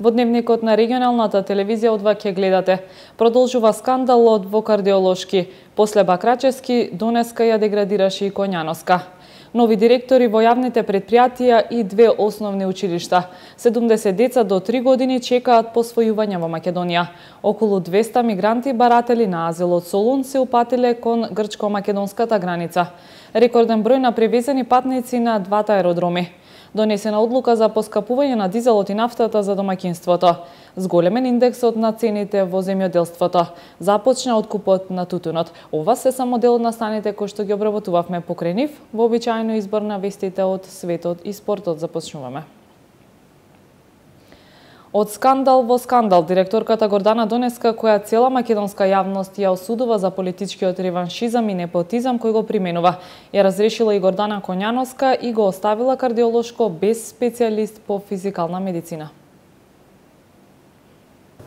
Во дневникот на регионалната телевизија од ваќе гледате. Продолжува скандалот во кардиолошки. После Бакрачевски, донеска ја деградираше и Коњановска. Нови директори во јавните предпријатија и 2 основни училишта. 70 деца до 3 години чекаат посвојување во Македонија. Околу 200 мигранти баратели на азил од Солун се упатиле кон грчко-македонската граница. Рекорден број на превезени патници на двата аеродроми. Донесена одлука за поскапување на дизелот и нафтата за домаќинството. Зголемен индексот на цените во земјоделството. Започна откупот на тутунот. Ова се само дел од настаните кои што ги обработувавме покрај нив. Вообичаено избор на вестите од светот и спортот започнуваме. Од скандал во скандал, директорката Гордана Донеска, која цела македонска јавност ја осудува за политичкиот реваншизам и непотизам кој го применува, ја разрешила и Гордана Коњановска и го оставила кардиолошко без специјалист по физикална медицина.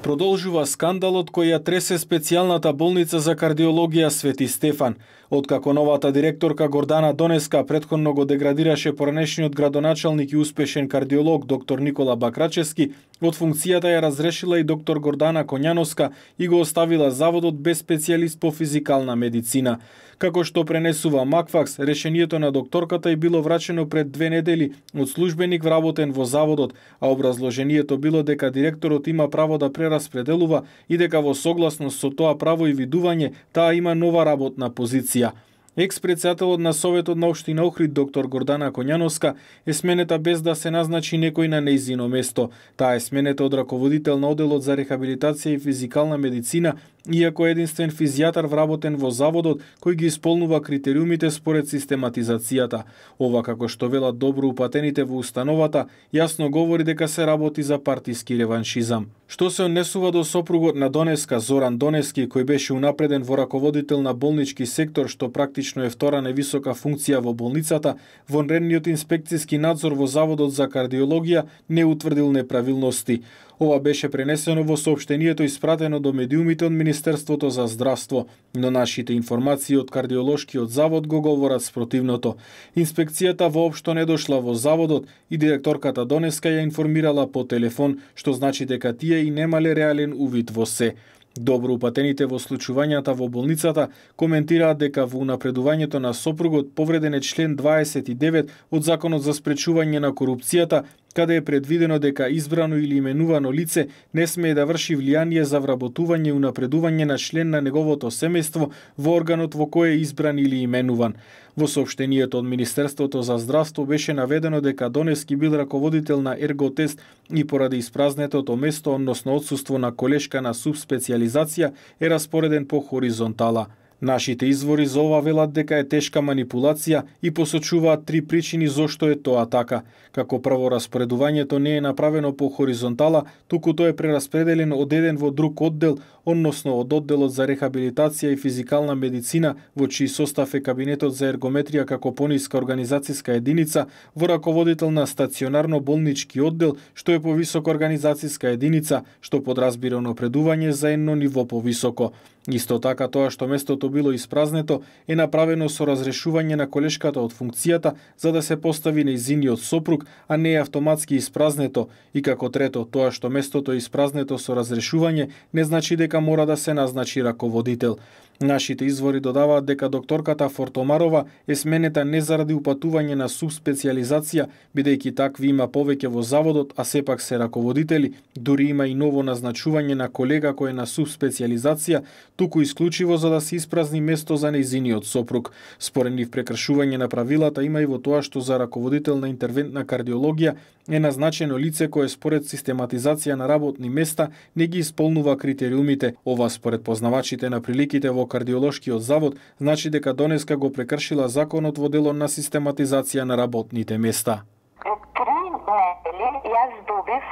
Продолжува скандалот кој ја тресе специјалната болница за кардиологија Свети Стефан. Откако новата директорка Гордана Донеска претходно го деградираше поранешниот градоначалник и успешен кардиолог доктор Никола Бакрачевски, од функцијата ја разрешила и доктор Гордана Коњановска и го оставила заводот без специјалист по физикална медицина. Како што пренесува Макфакс, решението на докторката е било врачено пред 2 недели од службеник вработен во заводот, а образложението било дека директорот има право да прераспределува и дека во согласност со тоа право и видување, таа има нова работна позиција. Екс-председателот на Советот на општина Охрид доктор Гордана Коњановска е сменета без да се назначи некој на нејзино место. Таа е сменета од раководител на одделот за рехабилитација и физикална медицина, иако е единствен физијатар вработен во заводот кој ги исполнува критериумите според систематизацијата. Ова, како што велат добро упатените во установата, јасно говори дека се работи за партиски реваншизам. Што се однесува до сопругот на Донеска, Зоран Донески, кој беше унапреден во раководител на болнички сектор, што практично е втора највисока функција во болницата, вонредниот инспекцијски надзор во Заводот за кардиологија не утврдил неправилности. Ова беше пренесено во соопштението испратено до медиумите од Министерството за здравство, но нашите информации од кардиолошкиот завод го говорат спротивното. Инспекцијата воопшто не дошла во заводот и директорката Донеска ја информирала по телефон, што значи дека тие и немале реален увид во се. Добро упатените во случувањата во болницата коментираат дека во унапредувањето на сопругот повреден е член 29 од Законот за спречување на корупцијата, каде е предвидено дека избрано или именувано лице не смее да врши влијание за вработување и унапредување на член на неговото семејство во органот во кој е избран или именуван. Во соопштението од Министерството за здравство беше наведено дека Донески бил раководител на ерготест и поради испразнетото место, односно отсуство на колешка на субспецијализација, е распореден по хоризонтала. Нашите извори за ова велат дека е тешка манипулација и посочуваат 3 причини зошто е тоа така. Како прво, распоредувањето не е направено по хоризонтала, туку тоа е прераспределено од еден во друг оддел, односно од одделот за рехабилитација и физикална медицина, во чиј состав е кабинетот за ергометрија како пониска организацијска единица, во раководител на стационарно болнички оддел, што е повисока организацијска единица, што подразбира напредување за едно ниво повисоко. Исто така тоа што местото било испразнето е направено со разрешување на колешката од функцијата за да се постави нејзиниот сопруг, а не е автоматски испразнето. И како трето, тоа што местото е испразнето со разрешување не значи дека мора да се назначи раководител. Нашите извори додаваат дека докторката Фортомарова е сменета не заради упатување на субспецијализација, бидејќи такви има повеќе во заводот, а сепак се раководители, дури има и ново назначување на колега кој е на субспецијализација, туку исклучиво за да се испразни место за нејзиниот сопруг. Според нив прекршување на правилата има и во тоа што за раководител на интервентна кардиологија е назначено лице кое според систематизација на работни места не ги исполнува критериумите. Ова според познавачите на приликите во кардиолошкиот завод значи дека Донеска го прекршила законот во делот на систематизација на работните места. Пред 3 недели јас добив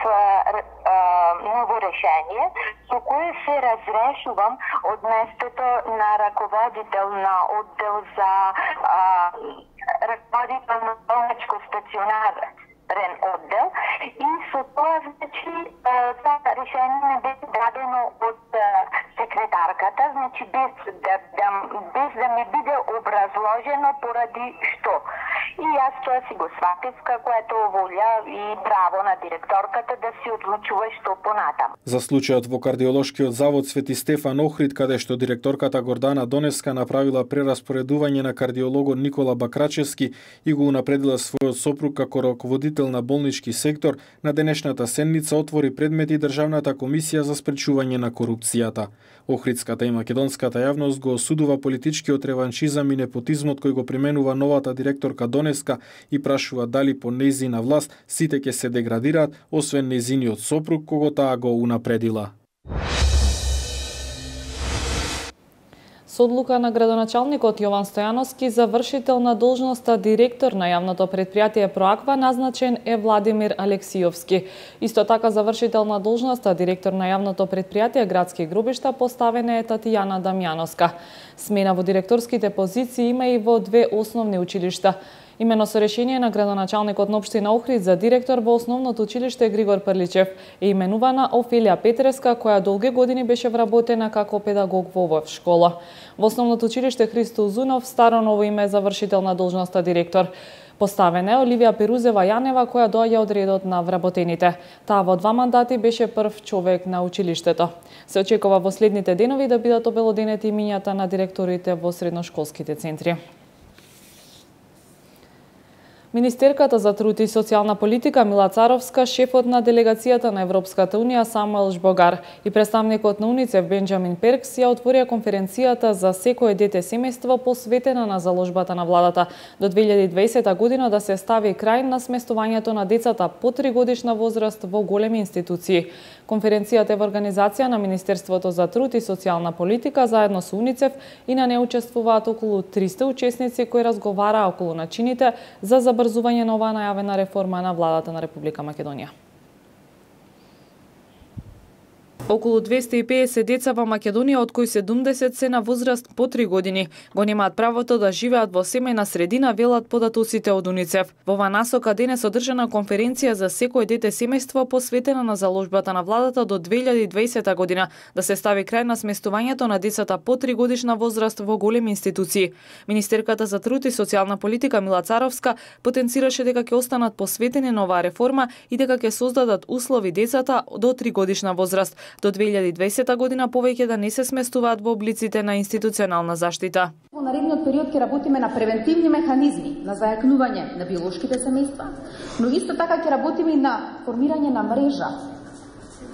ново решение со кое се разрешувам од местото на раководител на оддел за раководител на болничко стационарен оддел и со тоа значи тоа решение не беше дадено од секретарката, значи без да ми биде образложено поради што. И јас тоа си го сватив како ето волја и право на директорката да си одлучува што понатаму. За случајот во кардиолошкиот завод Свети Стефан Охрид, каде што директорката Гордана Донеска направила прераспоредување на кардиологот Никола Бакрачевски и го унапредила својот сопруг како раководител на болнички сектор, на денешната седница отвори предмети Државната комисија за спречување на корупцијата. Охридската и македонската јавност го осудува политичкиот реваншизам и непотизмот кој го применува новата директорка Донеска и прашува дали по нејзина власт сите ќе се деградираат, освен нејзиниот сопруг кого таа го унапредила. Со одлука на градоначалникот Јован Стојановски за вршител на должноста директор на јавното предпријатие Проаква назначен е Владимир Алексиовски. Исто така за вршител на должноста директор на јавното предпријатие Градски гробишта поставена е Татјана Дамјановска. Смена во директорските позиции има и во две основни училишта. Имено со решение на градоначалникот на општина Охрид за директор во основното училиште Григор Прличев е именувана Офелија Петреска, која долги години беше вработена како педагог во оваа школа. Во основното училиште Христо Узунов старо ново име за вршител на должноста директор. Поставена е Оливија Перузева Јанева, која доаѓа од редот на вработените. Таа во 2 мандати беше прв човек на училиштето. Се очекува во следните денови да бидат обелоденети имињата на директорите во средношколските центри. Министерката за труд и социјална политика Мила Царовска, шефот на делегацијата на Европската унија Самуел Жбогар и представникот на УНИЦЕФ Бенџамин Перкс ја отворија конференцијата за секое дете семејство посветена на заложбата на владата до 2020 година да се стави крај на сместувањето на децата по 3 годишна возраст во големи институции. Конференцијата е во организација на Министерството за труд и социјална политика заедно со УНИЦЕФ и на неа учествуваат околу 300 учесници кои разговараа околу начините за забрзување на оваа најавена реформа на владата на Република Македонија. Околу 250 деца во Македонија, од кои 70 се на возраст по 3 години, го немаат правото да живеат во семејна средина, велат податоците од УНИЦЕФ. Во оваа насока денес одржана конференција за секое дете семејство посветена на заложбата на владата до 2020 година да се стави крај на сместувањето на децата по 3 годишна возраст во големи институции. Министерката за труд и социјална политика Мила Царовска потенцираше дека ќе останат посветени на оваа реформа и дека ќе создадат услови децата до 3 годишна возраст до 2020 година повеќе да не се сместуваат во облиците на институционална заштита. Во наредниот период ќе работиме на превентивни механизми на зајакнување на биолошките семејства, но исто така ќе работиме и на формирање на мрежа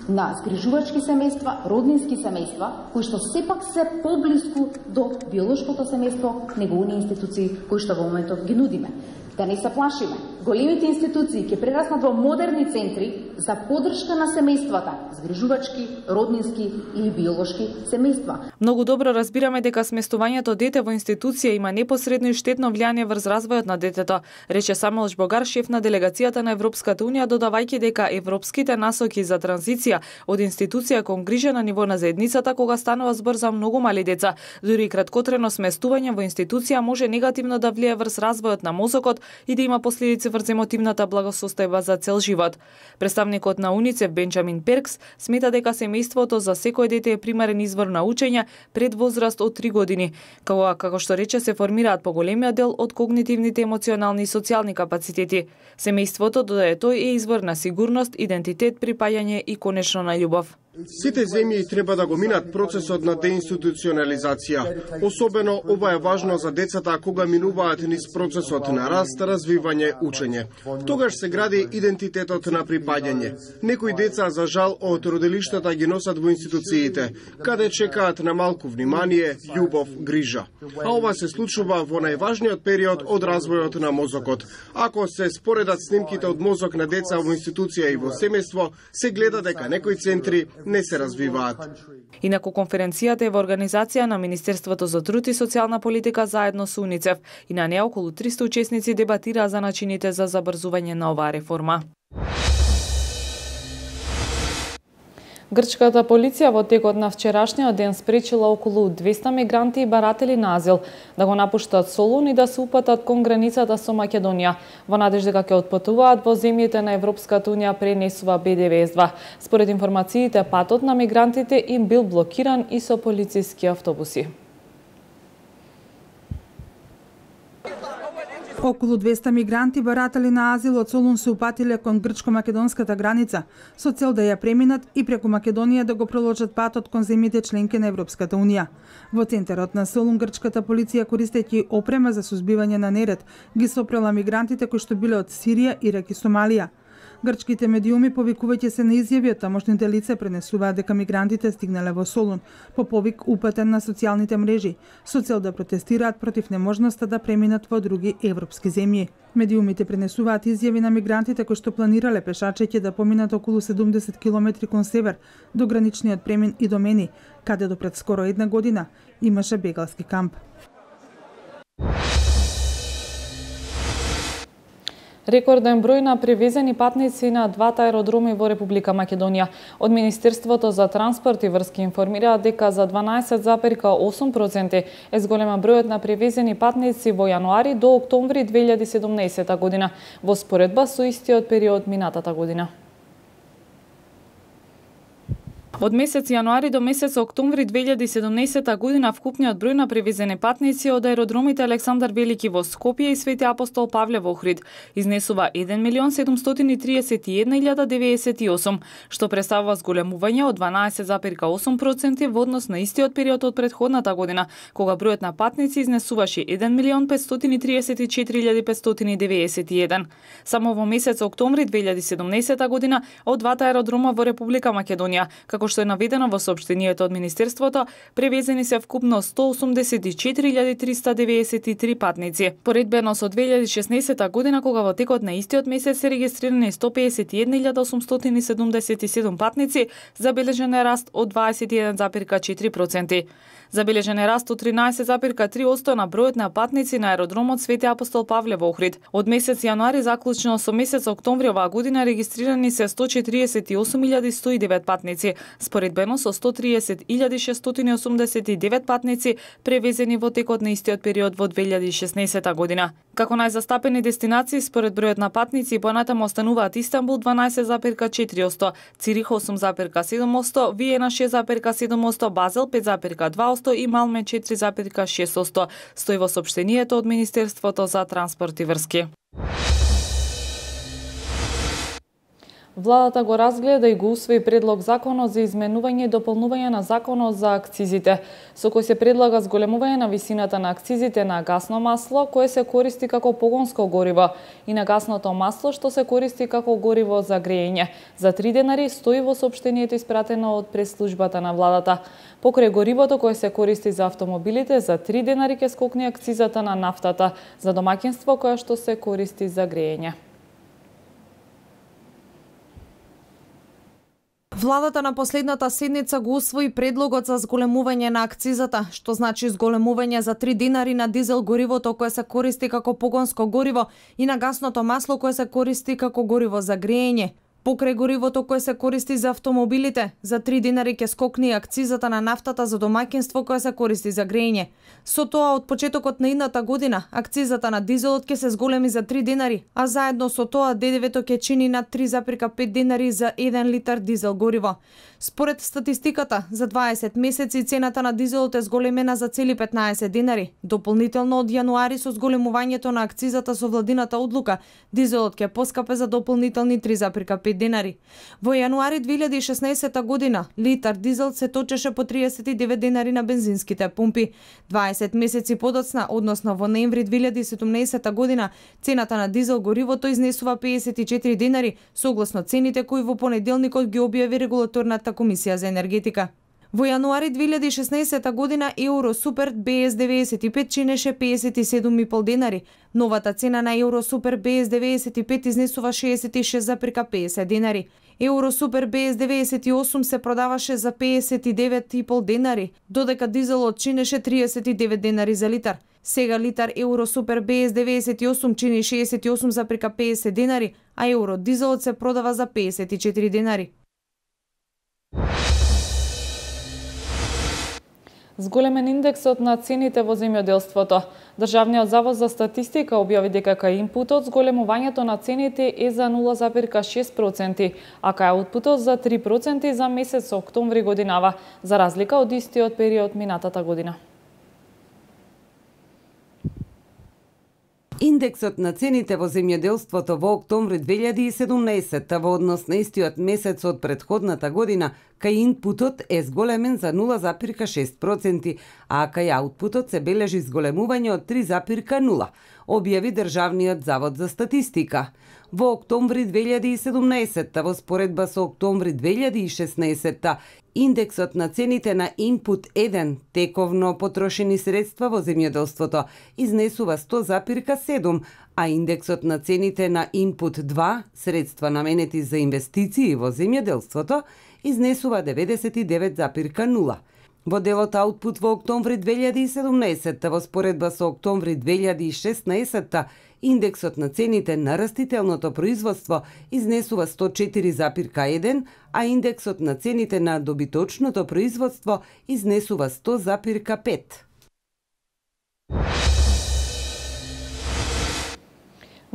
на згрижувачки семејства, роднински семејства, кои што сепак се поблиску до биолошкото семејство него оние институции кои што во моментот ги нудиме. Да не се плашиме. Големите институции ќе прераснат во модерни центри за поддршка на семејствата, згрижувачки, роднински или биолошки семејства. Многу добро разбираме дека сместувањето дете во институција има непосредно и штетно влијание врз развојот на детето, рече Самуел Жбогар, шеф на делегацијата на Европската унија, додавајќи дека европските насоки за транзиција од институција кон грижа на ниво на заедницата кога станува збор за многу мали деца, дури и краткотрено сместување во институција може негативно да влие врз развојот на мозокот и да има последици врз емотивната благосостојба за цел живот. Представникот на УНИЦЕФ Бенџамин Перкс смета дека семејството за секое дете е примарен извор на учење пред возраст од 3 години, како што рече се формираат поголемиот дел од когнитивните, емоционални и социјални капацитети. Семејството додека тој е извор на сигурност, идентитет, припаѓање и конечно на љубов. Сите земји треба да го минат процесот на деинституционализација. Особено ова е важно за децата кога минуваат низ процесот на раст, развивање, учење. Тогаш се гради идентитетот на припаѓање. Некои деца, за жал, од родилиштата ги носат во институциите, каде чекаат на малку внимание, љубов, грижа. А ова се случува во најважниот период од развојот на мозокот. Ако се споредат снимките од мозок на деца во институција и во семејство, се гледа дека некои центри не се развиваат. Инаку конференцијата е во организација на Министерството за труд и социјална политика заедно со УНИЦЕФ и на неа околу 300 учесници дебатираа за начините за забрзување на оваа реформа. Грчката полиција во текот на вчерашниот ден спречила околу 200 мигранти и баратели на азил да го напуштат Солун и да се упатат кон границата со Македонија, во надежда дека ќе отпатуваат во земјите на Европската унија пренесува БДВС-2. Според информациите, патот на мигрантите им бил блокиран и со полициски автобуси. Околу 200 мигранти баратали на азил од Солун се упатиле кон грчко-македонската граница со цел да ја преминат и преку Македонија да го проложат патот кон земјите членки на Европската унија. Во центарот на Солун грчката полиција, користејќи опрема за сузбивање на неред, ги сопрела мигрантите кои што биле од Сирија, Ирак и Сомалија. Грчките медиуми, повикувајќи се на изјави од тамошните лица, пренесуваат дека мигрантите стигнале во Солун по повик упатен на социјалните мрежи со цел да протестираат против неможноста да преминат во други европски земји. Медиумите пренесуваат изјави на мигрантите кои што планирале пешачејќи да поминат околу 70 километри кон север до граничниот премин и Домени, каде до пред скоро една година имаше бегалски камп. Рекорден број на превезени патници на двата аеродроми во Република Македонија. Од Министерството за транспорт и врски информираат дека за 12,8% е зголема бројот на превезени патници во јануари до октомври 2017 година, во споредба со истиот период минатата година. Од месец јануари до месец октомври 2017 година вкупниот број на превезени патници од аеродромите Александар Велики во Скопје и Свети Апостол Павле во Охрид изнесува 1.731.098, што представува зголемување од 12,8% во однос на истиот период од претходната година, кога бројот на патници изнесуваше 1.534.591. Само во месец октомври 2017 година од двата аеродрома во Република Македонија, како што е наведено во соопштението од Министерството, превезени се вкупно 184.393 патници. Поредбено со 2016 година, кога во текот на истиот месец се регистрирани 151.877 патници, забележен е раст од 21,4%. Забележен е раст од 13,3% на бројот на патници на аеродромот Свети Апостол Павле во Охрид. Од месец јануари заклучно со месец октомври оваа година регистрирани се 148.109 патници, споредбено со 130.689 патници превезени во текот на истиот период во 2016 година. Како најзастапени дестинации според бројот на патници понатаму остануваат Истанбул 12,4%, Цирих 8,7%, Виена 6,7%, Базел 5,2% и Малме 4,6%, стои во соопштението од Министерството за транспорт и врски. Владата го разгледа и го усвои предлог законот за изменување и дополнување на законот за акцизите, со кој се предлага зголемување на висината на акцизите на гасно масло, кое се користи како погонско гориво, и на гасното масло, што се користи како гориво за грејење. За 3 денари, стои во соопштението испратено од пресслужбата на владата. Покрај горивото кое се користи за автомобилите, за 3 денари ќе скокне акцизата на нафтата за домаќинство која што се користи за грејење. Владата на последната седница го усвои предлогот за зголемување на акцизата, што значи зголемување за 3 динари на дизел горивото кое се користи како погонско гориво и на гасното масло кое се користи како гориво за грејење. Покрај горивото кое се користи за автомобилите, за 3 динари ќе скокне акцизата на нафтата за домаќинство кое се користи за грејење. Со тоа, од почетокот на идната година, акцизата на дизелот ќе се зголеми за 3 динари, а заедно со тоа ДДВ-то ќе чини над 3,5 динари за 1 литар дизел гориво. Според статистиката, за 20 месеци цената на дизелот е зголемена за цели 15 динари. Дополнително од јануари со зголемувањето на акцизата со владината одлука, дизелот ќе поскапе за дополнителни 3,5 динари. Во јануари 2016 година литар дизел се точеше по 39 динари на бензинските пумпи. 20 месеци подоцна, односно во ноември 2017 година, цената на дизел горивото изнесува 54 динари, согласно цените кои во понеделникот ги објави регулаторната комисија за енергетика. Во јануари 2016 година Еуро Супер БС 95 чинеше 57,5 денари. Новата цена на Еуро Супер БС 95 изнесува 66,50 денари. Еуро Супер БС 98 се продаваше за 59,5 денари, додека дизелот чинеше 39 денари за литар. Сега литар Еуро Супер БС 98 чини 68,50 денари, а Еуро дизелот се продава за 54 денари. Зголемен индексот на цените во земјоделството. Државниот завод за статистика објави дека кај инпутот зголемувањето на цените е за 0,6%, а кај аутпутот за 3% за месец октомври годинава, за разлика од истиот период минатата година. Индексот на цените во земјоделството во октомври 2017 во однос на истиот месец од претходната година кај инпутот е зголемен за 0,6%, а кај аутпутот се бележи зголемување од 3,0%, објави Државниот завод за статистика. Во октомври 2017 во споредба со октомври 2016 индексот на цените на инпут 1, тековно потрошени средства во земјоделството, изнесува 100,7, а индексот на цените на инпут 2, средства наменети за инвестиции во земјоделството, изнесува 99,0. Во делот аутпут во октомври 2017 во споредба со октомври 2016 индексот на цените на растителното производство изнесува 104,1, а индексот на цените на добиточното производство изнесува 100,5.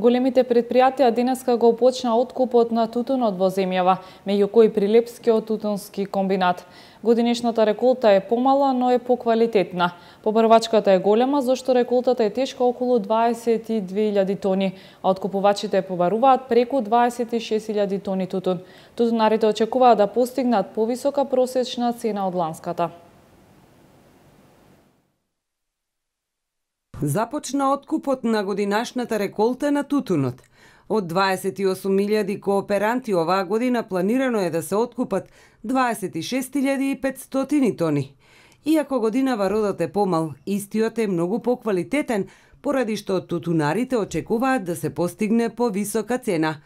Големите предпријатија денеска го почна откупот на тутунот во земјава, меѓу кои Прилепскиот тутунски комбинат. Годинешната реколта е помала, но е поквалитетна. Побарвачката е голема, зашто реколтата е тешка околу 22.000 тони, а откупувачите побаруваат преку 26.000 тони тутун. Тутунарите очекуваат да постигнат повисока просечна цена од ланската. Започна откупот на годинашната реколта на тутунот. Од 28.000 кооперанти оваа година планирано е да се откупат 26.500 тони. Иако годинава родот е помал, истиот е многу поквалитетен, поради што тутунарите очекуваат да се постигне повисока цена.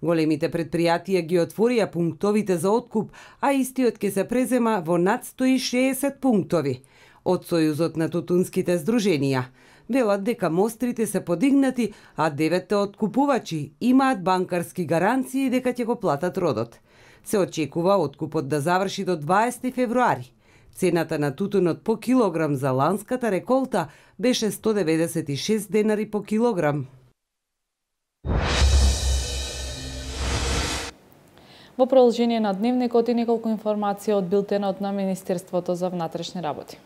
Големите предпријатија ги отворија пунктовите за откуп, а истиот ќе се презема во над 160 пунктови. Од Сојузот на тутунските здруженија велат дека мострите се подигнати, а 9 откупувачи имаат банкарски гаранции дека ќе го платат родот. Се очекува откупот да заврши до 20 февруари. Цената на тутунот по килограм за ланската реколта беше 196 денари по килограм. Во продолжение на дневникот и неколку информации од билтенот на Министерството за внатрешни работи.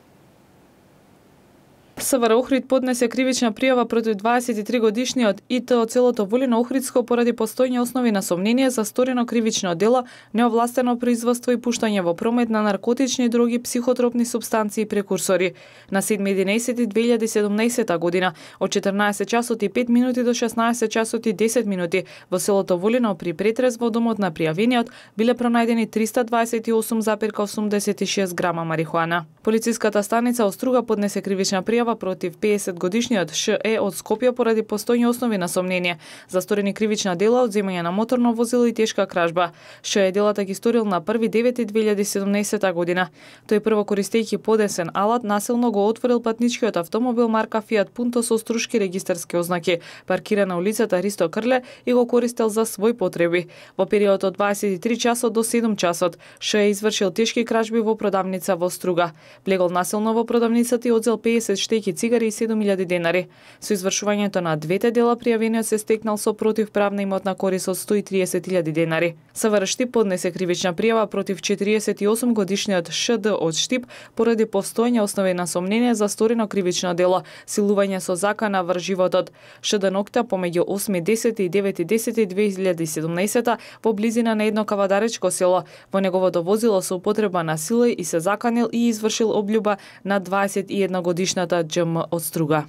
СВР Охрид поднесе кривична пријава против 23-годишниот ИТ од селото Волино Охридско поради постојни основи на сомнение за сторено кривично дело, неовластено производство и пуштање во промет на наркотични дроги, психотропни супстанции и прекурсори. На 7.11.2017 година од 14 часот и 5 минути до 16 часот и 10 минути во селото Волино при претрез во домот на пријавениот биле пронајдени 328,86 грама марихуана. Полициската станица Оструга поднесе кривична пријава против 50-годишниот ШЕ од Скопје поради постојни основи на сомнение за сторени кривична дела од земање на моторно возило и тешка кражба. ШЕ делата ги сторил на 1.9.2017 година. Тој прво користејќи подесен алат насилно го отворил патничкиот автомобил марка Fiat Punto со струшки регистарски ознаки, паркиран на улицата Ристо Крле и го користел за своји потреби. Во период од 23 часот до 7 часот ШЕ извршил тешки кражби во продавница во Струга. Влегол насилно во продавницата и одзел 50 штеки цигари и 7.000 денари. Со извршувањето на двете дела пријавениот се стекнал со противправна имотна корист од 130.000 денари. СВР Штип поднесе кривична пријава против 48 годишниот ШД од Штип поради постојни основи на сомнение за сторено кривично дело, силување со закана врз животот. ШД Нокта помеѓу 8.10 и 9.10.2017 во близина на едно кавадаречко село. Во неговото возило со употреба на сила и се заканил и извршил облюба на 21 годишната ДЖМ од Струга.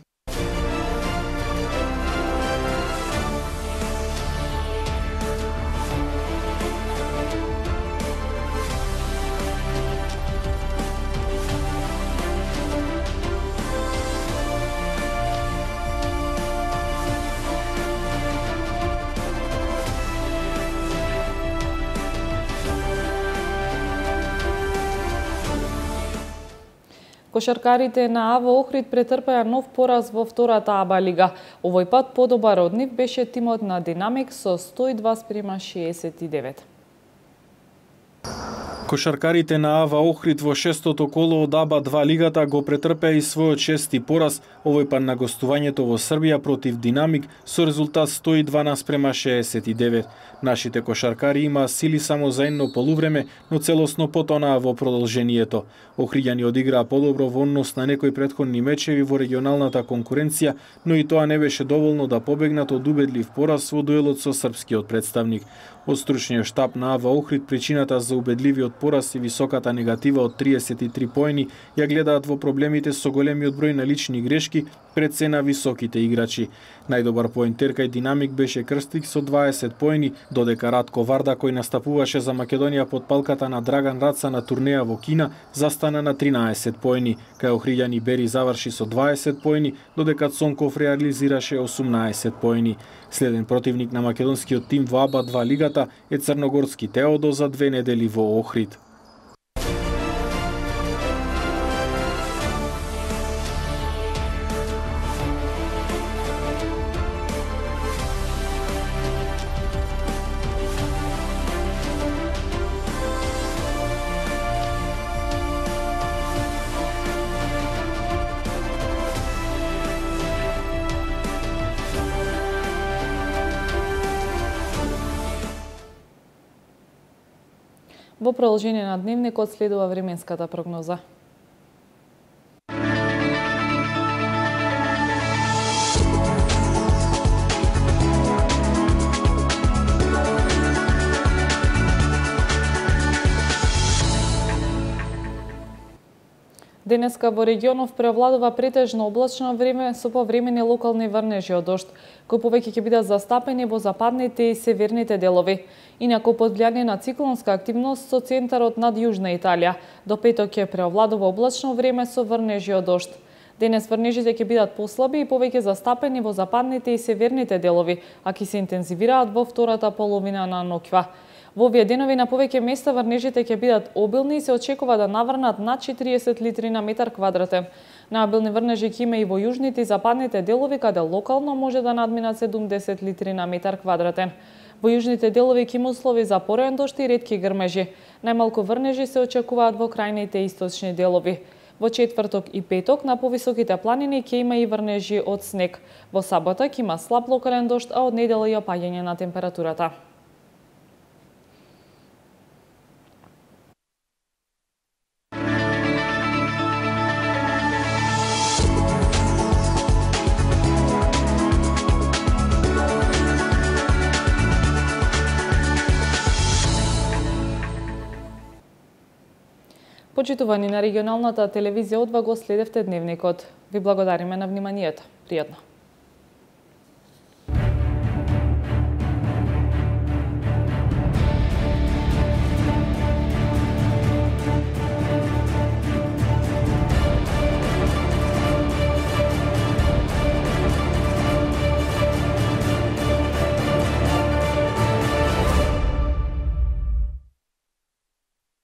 Кошаркарите на АВО Охрид претрпеа нов пораз во втората АБА лига. Овој пат подобар од нив беше тимот на Динамик со 102:69. Кошаркарите на АВА Охрид во шестото коло од АБА-2 лигата го претрпеа и својот шести пораз, овој пат на гостувањето во Србија против Динамик со резултат 102:69. Нашите кошаркари имаа сили само за едно полувреме, но целосно потонаа во продолжението. Охриѓани одиграа подобро во однос на некои претходни мечеви во регионалната конкуренција, но и тоа не беше доволно да побегнат од убедлив пораз во дуелот со српскиот представник. Од стручниот штаб на АВА Охрид причината за убедливиот пораз и високата негатива од 33 поени ја гледаат во проблемите со големиот број на лични грешки пред се на високите играчи. Најдобар поентер кај Динамик беше Крстик со 20 поени, додека Радко Варда, кој настапуваше за Македонија под палката на Драган Раца на турнеја во Кина, застана на 13 поени. Кај Охриѓани Бери заврши со 20 поени, додека Цонков реализираше 18 поени. Следен противник на македонскиот тим во АБА-2 лигата е црногорски Теодо за 2 недели во Охрид. Во продолжение на дневникот следува временската прогноза. Денеска во регионов преовладува претежно облачно време со повремени локални врнежи од дожд, кои повеќе ќе бидат застапени во западните и северните делови. Инаку под влијание на циклонска активност со центарот над Јужна Италија, до петок ќе преовладува облачно време со врнежи од дожд. Денес врнежите ќе бидат послаби и повеќе застапени во западните и северните делови, а ќе се интензивираат во втората половина на ноќва. Во овие денови на повеќе места врнежите ќе бидат обилни и се очекува да наврнат над 40 литри на метар квадратен. Наобилни врнежи ќе има и во јужните и западните делови, каде локално може да надминат 70 литри на метар квадратен. Во јужните делови ќе има услови за пореен дожд и ретки грмежи. Најмалку врнежи се очекуваат во крајните источни делови. Во четврток и петок на повисоките планини ќе има и врнежи од снег. Во сабота ќе има слаб локален дожд, а од недела и опаѓање на температурата. Почитувани на регионалната телевизија од го следевте дневникот. Ви благодариме на вниманието. Пријатно.